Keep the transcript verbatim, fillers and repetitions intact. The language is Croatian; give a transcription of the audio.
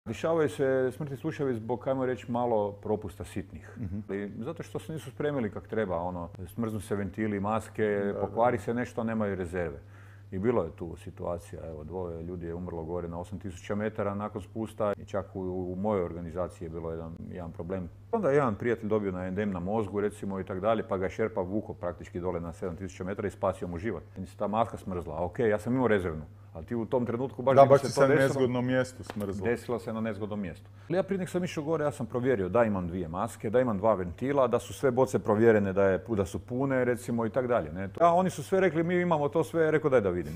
Dešavaju se smrtni slučajevi zbog, ajmo reći, malo propusta sitnih. Uh-huh. Zato što se nisu spremili kak treba, ono, smrznu se ventili, maske, da, pokvari da. se nešto, a nemaju rezerve. I bilo je tu situacija, evo, dvoje ljudi je umrlo gore na osam tisuća metara nakon spusta i čak u, u mojoj organizaciji je bilo jedan, jedan problem. Onda je jedan prijatelj dobio na endem na mozgu, recimo, i tak dalje, pa ga je šerpa vuko praktički dole na sedam tisuća metara i spasio mu život. I se ta maska smrzla, ok, ja sam imao rezervnu, ali ti u tom trenutku baš da, bi baš se se to na desilo. nezgodnom mjestu smrzla. Desilo se na nezgodnom mjestu. Ja prije nek sam išao gore, ja sam provjerio da imam dvije maske, da imam dva ventila, da su sve boce provjerene, da, je, da su pune, recimo, i tak dalje. Ne? A oni su sve rekli, mi imamo to sve, rekao daj da vidim.